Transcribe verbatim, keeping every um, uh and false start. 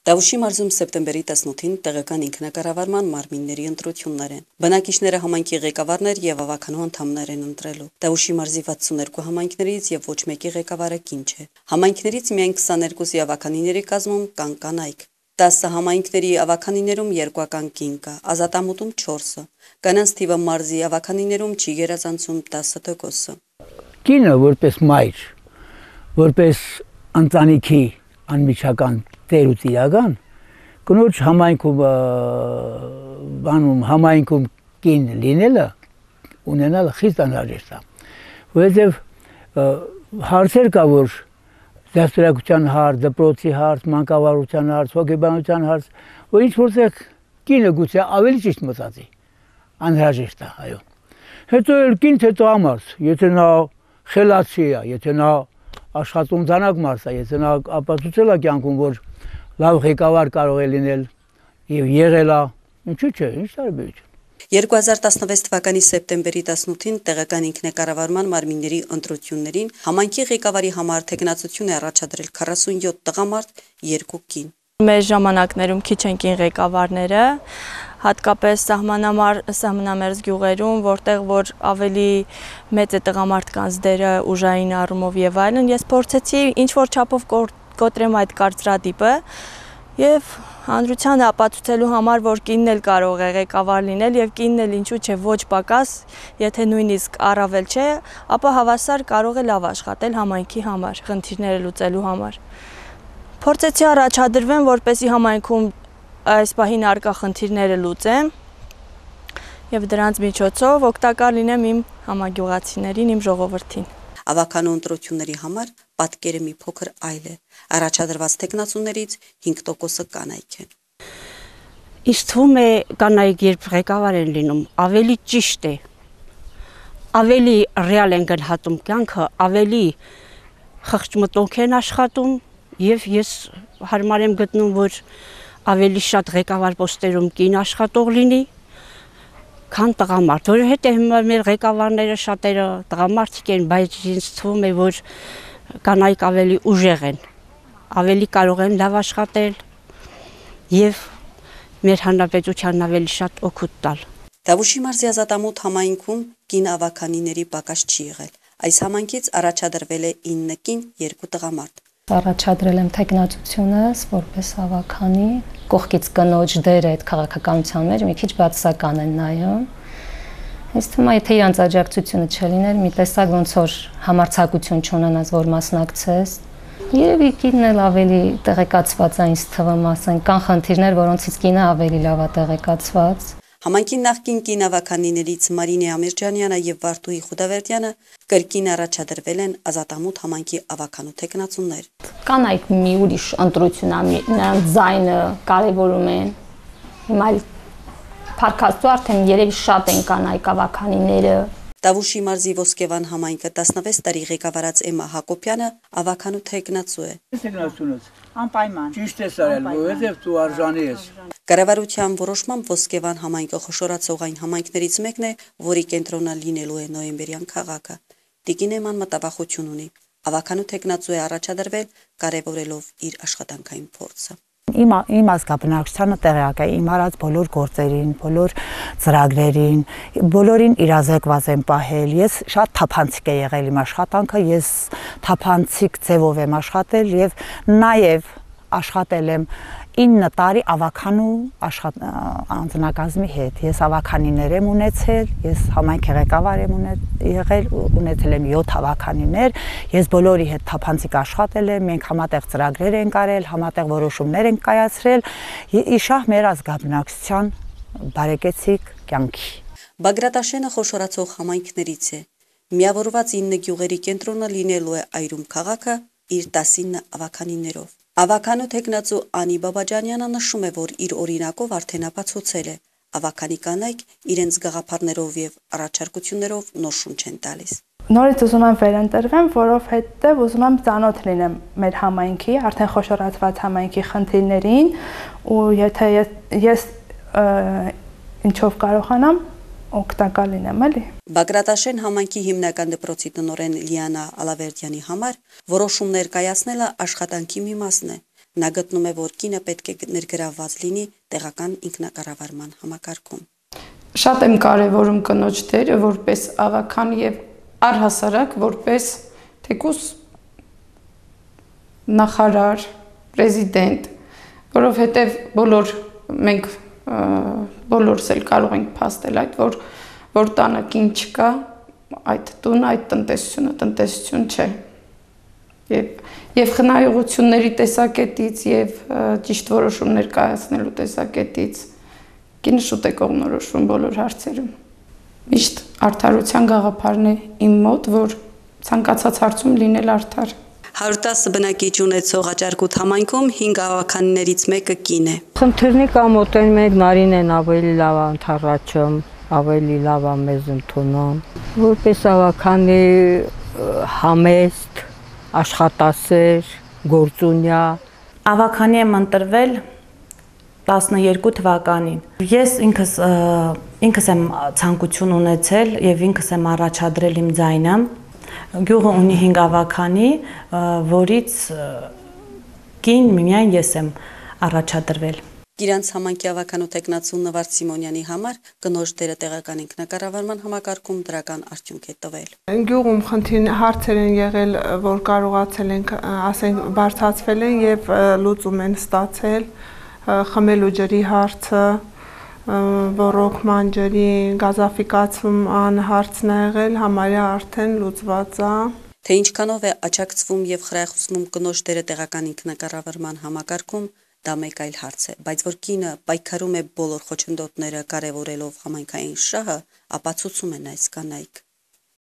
Տավուշի մարզում սեպտեմբերի տասնութին տեղական ինքնակառավարման մարմինների ընտրություններ են։ Բնակիչները համայնքի ղեկավարներ եւ ավականու անդամներ են ընտրելու։ Տավուշի մարզի վաթսուններկու համայնքներից եւ ոչ մեկի ղեկավարը կին չէ։ Համայնքներից միայն քսաներկուսի ավականիների կազմում կան կանայք։ տասը համայնքների ավականիներում երկուական կին կա, ազատամուտում չորսը։ Կանանց թիվը մարզի ավականիներում չի գերազանցում տասը տոկոսը։ Կինը որպես մայր, որպես ընտանիքի անմիջական տեր ու տիրական, կնոջ համայնքում բանում համայնքում կին լինելը ունենալը խիստ անհրաժեշտ է, որովհետև հարցեր կա, որ դաստիարակության հարց, դպրոցի հարց, մանկավարության հարց, հոգեբանության հարց, որ ինչ որտեղ կինը գուցե ավելի ճիշտ մտածի, անհրաժեշտ է, այո։ Հետո էլ կին թե տղամարդ, եթե նա խելացի է, եթե նա աշխատում դանակ մարդ է, եթե նա ապացուցել է կյանքում, որ լավ ղեկավար կարող է լինել եւ եղել է, ինչու՞ չէ, ինչ տարբերություն։ երկու հազար տասնվեց թվականի սեպտեմբերի տասնութին տեղական ինքնակառավարման մարմինների ընտրություններին համայնքի ղեկավարի համար թեկնածություն է առաջադրել քառասունյոթ տղամարդ, երկու կին։ Մեր ժամանակներում քիչ են կին ղեկավարները, հատկապես սահմանամերձ գյուղերում, որտեղ որ ավելի մեծ է տղամարդկանց դերը ուժային առումով եւ այլն, ես փորձեցի ինչ որ չափով կոտրեմ այդ կարծրատիպը եւ հանրությանը ապացուցելու համար, որ կինն էլ կարող է ղեկավար լինել եւ կինն էլ ինչու՞ չէ ոչ պակաս, եթե նույնիսկ առավել չէ, ապա հավասար կարող է լավ աշխատել համայնքի համար, խնդիրները լուծելու համար։ Փորձեցի առաջադրվեմ, որպեսզի համայնքում այս պահին առկա խնդիրները լուծեմ եւ դրանց միջոցով օգտակար լինեմ իմ համագյուղացիներին, իմ ժողովրդին։ Ավականու ընտրությունների համար պատկերը մի փոքր այլ է։ Առաջադրված տեխնացուներից հինգ տոկոսը կանայք են։ Իսկ թվում է կանայք երբ ղեկավար են լինում, ավելի ճիշտ է, ավելի ռեալ են գնահատում կյանքը, ավելի խղճմտոնք են աշխատում եւ ես հարմար եմ գտնում, որ ավելի շատ ղեկավար պոստերում կին աշխատող լինի, քան տղամարդ, որովհետև մեր ղեկավարները շատերը տղամարդիկ են, բայց ինձ թվում է, որ կանայք ավելի ուժեղ են, ավելի կարող են լավ աշխատել եւ մեր հանրապետությանն ավելի շատ օգուտ տալ։ Տավուշի մարզի ազատամուտ համայնքում կին ավականիների պակաս չի եղել։ Այս համայնքից առաջադրվել է ինը կին, երկու տղամարդ։ Առաջադրել եմ թեկնածությունս որպես ավականի, կողքից կնոջ դերը այդ քաղաքականության մեջ մի քիչ բացասական են նայում։ Ինձ թվում է, եթե իրանց աջակցությունը չլիներ, մի տեսակ ոնց որ համարձակություն չունենաս, որ մասնակցես։ Երևի կինն էլ ավելի տեղեկացված է, ինձ թվում, ասենք, կան խնդիրներ, որոնցից կինը ավելի լավ է տեղեկացված։ Համայնքի նախկին կին ավականիներից Մարինե Ամիրջանյանը եւ Վարդուհի Խուդավերդյանը կրկին առաջադրվել են ազատամուտ համայնքի ավականու տեխնացուներ։ Կանայք մի ուրիշ ընտրություն է, նրանց ձայնը կարևորում են։ Հիմա փառքաստու արդեն երևի շատ են կանայք ավականիները։ Տավուշի մարզի Ոսկեվան համայնքը տասնվեց տարի ղեկավարած Էմմա Հակոբյանը ավականու տեխնացու է։ Տեխնացունս անպայման ճիշտ է արել, որովհետև դու արժանի ես։ Կառավարության որոշմամբ Ոսկեվան համայնքը խոշորացող այն համայնքներից մեկն է, որի կենտրոնը լինելու է նոյեմբերյան քաղաքը։ Տիկին Էմման մտավախություն ունի։ Ավականու տեխնացու է առաջադրվել, կարևորելով իր աշխատանքային փորձը։ Իմ իմ ազգաբնակչությանը տեղյակ է իմ արած բոլոր գործերին, բոլոր ծրագրերին, բոլորին իրազեկված եմ պահել։ Ես շատ թափանցիկ է եղել իմ աշխատանքը, ես թափանցիկ ձևով եմ աշխատել եւ նաեւ աշխատել եմ ինը տարի ավականու անձնակազմի հետ։ Ես ավականիներ եմ ունեցել, ես համայնքի ղեկավար եմ եղել, ունեցել եմ յոթ ավականիներ, ես բոլորի հետ թափանցիկ աշխատել եմ, մենք համատեղ ծրագրեր ենք արել, համատեղ որոշումներ ենք կայացրել, իշահ մեր ազգաբնակչության բարեկեցիկ կյանքի։ Բագրատաշենը խոշորացող համայնքներից է։ Միավորված ինը գյուղերի կենտրոնը լինելու է Այրում քաղաքը իր տասինը ավականիներով։ Ավականու տեխնացու Անի Բաբաջանյանը նշում է, որ իր օրինակով արդեն ապացուցել է, ավականի կանայք իրենց գաղափարներով եւ առաջարկություններով նոր շունչ են տալիս։ Նորից ուզում եմ վերընտրվեմ, որովհետեւ ուզում եմ ծանոթ լինեմ մեր համայնքի, արդեն խոշորացված համայնքի խնդիրներին, ու եթե ես ինչով կարողանամ օգտակար լինեմ, էլի։ Բագրատաշեն համայնքի հիմնական դպրոցի տնօրեն Լիանա Ալավերդյանի համար որոշումներ կայացնելը աշխատանքի մի մասն է։ Նա գտնում է, որ կինը պետք է ներգրավված լինի տեղական ինքնակառավարման համակարգում։ Շատ եմ կարևորում կնոջ դերը որպես ավագան եւ առհասարակ որպես թեկուզ նախարար, պրեզիդենտ, որովհետեւ բոլոր մենք բոլորս էլ կարող ենք փաստել այդ որ որ տանը կին չկա, այդ տունը, այդ տնտեսությունը տնտեսություն չէ։ Եվ եւ խնայողությունների տեսակետից եւ ճիշտ որոշումներ կայացնելու տեսակետից կինը շուտ է կողմնորոշվում բոլոր հարցերում։ Միշտ արդարության գաղափարն է իմ մոտ, որ ցանկացած հարցում լինել արդար։ հարյուր տասը բնակիչ ունեցող Աճարկուտ համայնքում հինգ ավականներից մեկը կին է։ Խնդիրնի կամ մոտեն մեկ Նարինեն ավելի լավ անթառաջում, ավելի լավ մեզ ընդունում, որպես ավականի համեստ, աշխատասեր, գործունյա։ Ավականի եմ ընտրվել տասներկու թվականին։ Ես ինքս ինքս եմ ցանկություն ունեցել եւ ինքս եմ առաջադրել իմ ձայնը։ Գյուղը ունի հինգ ավականի, որից կին միայն ես եմ առաջադրվել։ Գիրանց համայնքի ավականու տեխնացու Նվարդ Սիմոնյանի համար կնոջ դերը տեղական ինքնակառավարման համակարգում դրական արդյունք է տվել։ Գյուղում խնդիր հարցեր են եղել, որ կարողացել ենք, ասենք, բարձրացվել են եւ լուծում են ստացել, խմելու ջրի հարցը, ռոռոկման ջրի գազաֆիկացման հարցն ա եղել, համարյա արդեն լուծված է։ Թե ինչքանով է աջակցվում եւ խրախուսվում կնոջ դերը տեղական ինքնակառավարման համակարգում, դա մեկ այլ հարց է, բայց որ կինը պայքարում է բոլոր խոչընդոտները կարևորելով համայնքային շահը, ապացուցում են այս կանայք։